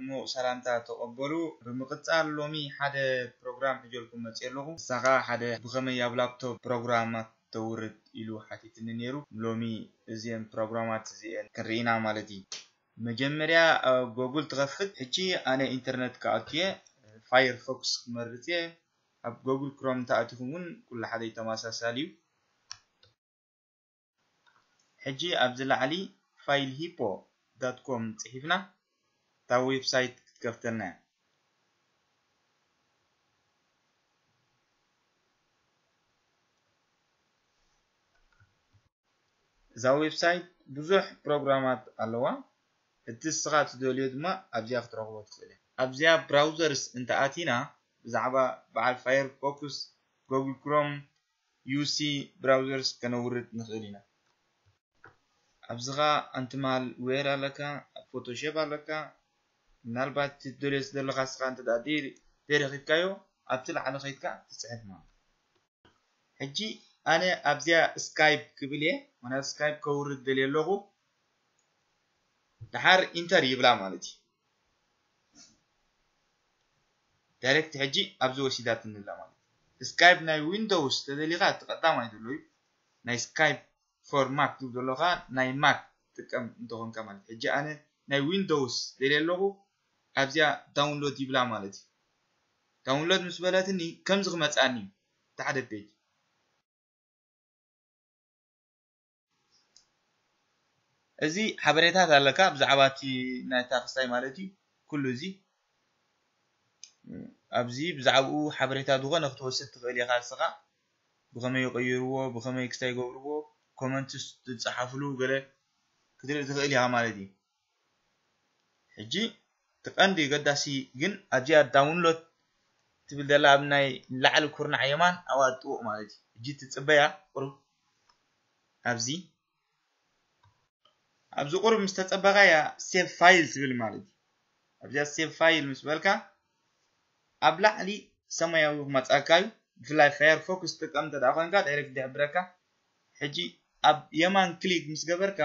ምዉቕ ሰላምታ ተቐበሉ። ብምቕጻል ሎሚ ሓደ ፕሮግራም ሒጀልኩም መጽየ ኣለኹ። ንሳ ኸኣ ሓደ ብኸመይ ኣብ ላፕቶፕ ፕሮግራማት ተውርድ ኢሉ ሓቲትኒ ነይሩ። ሎሚ እዚአን ፕሮግራማት እዚአን ክንርኢ ኢና ማለት እዩ። መጀመርያ ኣብ ጎግል ትኸፍት። ሕጂ ኣነ ኢንተርነት ክኣቱ እየ፣ ፋየርፎክስ ክመርጽ እየ። ኣብ ጎግል ክሮም እንተኣቲኹም እውን ኩሉ ሓደ ተመሳሳሊ እዩ። ሕጂ ኣብዚ ላዕሊ ፋይል ሂፖ ዳት ኮም ጽሒፍና እታ ዌብሳይት ክትከፍተልና እያ። እዛ ዌብሳይት ብዙሕ ፕሮግራማት ኣለዋ። እቲ ንስኻ ትደልዮ ድማ ኣብዚኣ ክትረኽቦ ትኽእል ኢኻ። ኣብዚኣ ብራውዘርስ እንተኣቲና ብዛዕባ በዓል ፋየርፎክስ፣ ጎግል ክሮም፣ ዩ ሲ ብራውዘርስ ከነውርድ ንኽእል ኢና። ኣብዚ ኸኣ ኣንትማል ዌር ኣለካ፣ ፎቶሾፕ ኣለካ። ምናልባት ትደልዮ ዘለኻ ንስኻ እንተ ደኣ ደይ-፣ ደይረኺብካዮ ኣብቲ ላዕሊ ኸይድካ ትጽሕፍ ማለት። ሕጂ ኣነ ኣብዚኣ ስካይፕ ክብል እየ፣ ምኽንያቱ ስካይፕ ከውርድ ደልየ ኣለኹ። ደሓር ኢንተር ይብላ ማለት እዩ። ዳይሬክት ሕጂ ኣብዚ ወሲዳትኒ ኣላ ማለት እዩ። ስካይፕ ናይ ዊንዶውስ ተደሊኻ እቲ ቀዳማይ ዘሎ እዩ። ናይ ስካይፕ ፎር ማክ ትብል ዘለኻ ናይ ማክ ትጥቀም እንተኾንካ ማለት እዩ። ሕጂ ኣነ ናይ ዊንዶውስ ደልየ ኣለኹ፣ ኣብዚኣ ዳውንሎድ ይብላ ማለት እዩ። ዳውንሎድ ምስ በለትኒ ከምዚ ክመጽኣኒ እዩ፣ እቲ ሓደ ፔጅ። እዚ ሓበሬታት ኣለካ ብዛዕባ እቲ ናይታ ክስታይ ማለት እዩ። ኩሉ እዚ ኣብዚ ብዛዕባኡ ሓበሬታ ዝኾነ ክትወስድ ትኽእል ኢኻ ንስኻ። ብኸመይ ይቕይርዎ፣ ብኸመይ ክስታይ ይገብርዎ፣ ኮመንትስ ትጸሓፍሉ ገለ ክትርኢ ትኽእል ኢኻ ማለት እዩ። ሕጂ እቲ ቀንዲ ገዳሲ ግን ኣብዚኣ ዳውንሎድ ትብል ዘላ ኣብ ናይ ላዕሊ ኩርናዕ የማን ኣብኣ ጥውቕ ማለት እዩ። ሕጂ ትጽበያ ቁሩብ ኣብዚ፣ ኣብዚ ቁሩብ ምስ ተጸበኻያ ሴቭ ፋይል ትብል ማለት እዩ። ኣብዚኣ ሴቭ ፋይል ምስ በልካ ኣብ ላዕሊ ሰማያዊ ክመጻካ እዩ። ብፍላይ ፋየርፎክስ ትጥቀም እንተ ደኣ ኮይንካ ዳይሬክት ይሕብረካ። ሕጂ ኣብ የማን ክሊክ ምስ ገበርካ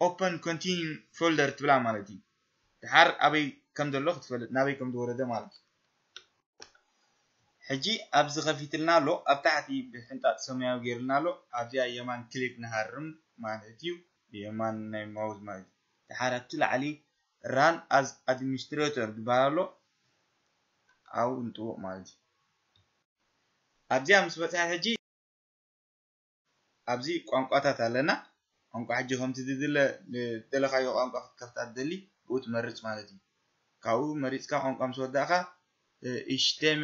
ኦፐን ኮንቲኒ ፎልደር ትብላ ማለት እዩ። ድሓር ኣበይ ከም ዘሎ ክትፈልጥ፣ ናበይ ከም ዝወረደ ማለት እዩ። ሕጂ ኣብዚ ከፊትልና ኣሎ፣ ኣብ ታሕቲ ብሕንጣጥ ሰማያዊ ገይርልና ኣሎ። ኣብዚኣ የማን ክሊክ ንሃርም ማለት እዩ፣ የማን ናይ ማውዝ ማለት እዩ። ድሓር ኣብቲ ላዕሊ ራን ኣዝ ኣድሚኒስትሬተር ዝበሃል ኣሎ፣ ኣብኡ ንጥውቕ ማለት እዩ። ኣብዚኣ ምስ በጽሐ ሕጂ ኣብዚ ቋንቋታት ኣለና። ቋንቋ ሕጂ ከምቲ ዝድለ ዝደለኻዮ ቋንቋ ክትከፍታ ትደሊ ብኡ ትመርጽ ማለት እዩ። ካብኡ መሪጽካ ቋንቋ ምስ ወዳእካ፣ እ፣ ኢሽቴመ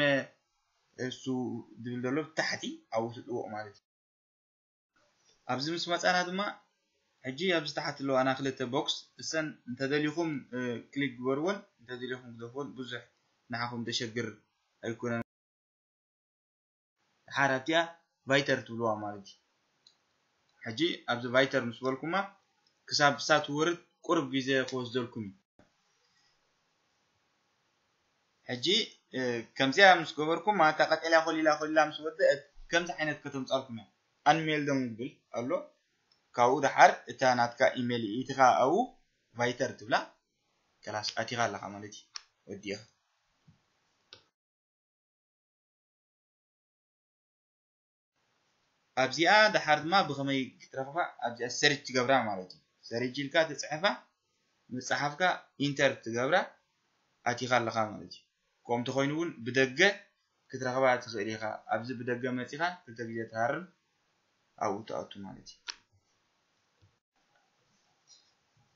እሱ ዝብል ዘሎ ብታሕቲ ኣብኡ ትጥውቕ ማለት እዩ። ኣብዚ ምስ መጻና ድማ ሕጂ ኣብዚ ታሕቲ ኣለዋና ክልተ ቦክስ፣ እሰን እንተደሊኹም፣ እ፣ ክሊክ ግበርዎን እንተደሊኹም ግደፍዎን፣ ብዙሕ ንዓኹም ዘሸግር ኣይኮነን። ድሓር ኣብቲኣ ቫይተር ትብልዋ ማለት እዩ። ሕጂ ኣብዚ ቫይተር ምስ በልኩማ ክሳብ እሳ ትወርድ ቁሩብ ግዜ ክወስደልኩም እዩ። ሕጂ፣ እ፣ ከምዚኣ ምስ ገበርኩማ እታ ቀጠልያ ኮሊላ ኮሊላ ምስ ወደአት ከምዚ ዓይነት ከተምጻልኩም እያ። ኣንሜልዶን ዝብል ኣሎ። ካብኡ ድሓር እታ ናትካ ኢሜል ኢትኻ ኣብኡ ቫይተር ትብላ። ከላስ ኣቲኻ ኣለኻ ማለት እዩ። ወዲእኻ። ኣብዚኣ ድሓር ድማ ብኸመይ ክትረኽባ ኣብዚኣ ሰርች ትገብራ ማለት እዩ። ሰርች ኢልካ ትጽሕፋ፣ ምጽሓፍካ ኢንተር ትገብራ ኣቲኻ ኣለኻ ማለት እዩ። ከምኡ እንተኾይኑ እውን ብደገ ክትረኽባ ትኽእል ኢኻ። ኣብዚ ብደገ መጺኻ ክልተ ግዜ ትሃርም ኣብኡ ትኣቱ ማለት እዩ።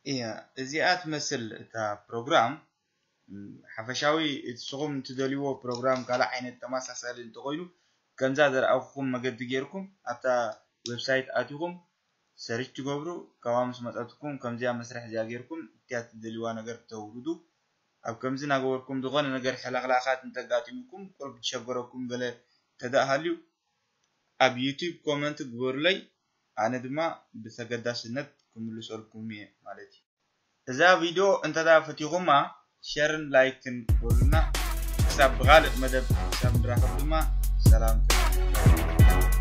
እያ፣ እዚኣ ትመስል እታ ፕሮግራም። ሓፈሻዊ ንስኹም እትደልይዎ ፕሮግራም ካልእ ዓይነት ተመሳሳሊ እንተኾይኑ፣ ከምዛ ዘርኣኹኹም መገዲ ጌርኩም ኣብታ ዌብሳይት ኣቲኹም ሰርች ትገብሩ፣ ካብኣ ምስ መጸትኩም ከምዚኣ መስርሕ እዚኣ ጌርኩም እቲኣ እትደልይዋ ነገር ተውርዱ። ኣብ ከምዚ እናገበርኩም ዝኾነ ነገር ሕልኽላኻት እንተጋጢሙኩም፣ ቁሩብ ዝሸገረኩም ገለ እንተደኣ ሃልዩ፣ ኣብ ዩቱብ ኮመንት ግበሩለይ፣ ኣነ ድማ ብተገዳስነት ክምልሰልኩም እየ ማለት እዩ። እዛ ቪድዮ እንተ ደኣ ፈቲኹማ፣ ሸርን ላይክን በሉና። ክሳብ ብኻልእ መደብ ክሳብ ንራኸብ ድማ ሰላም።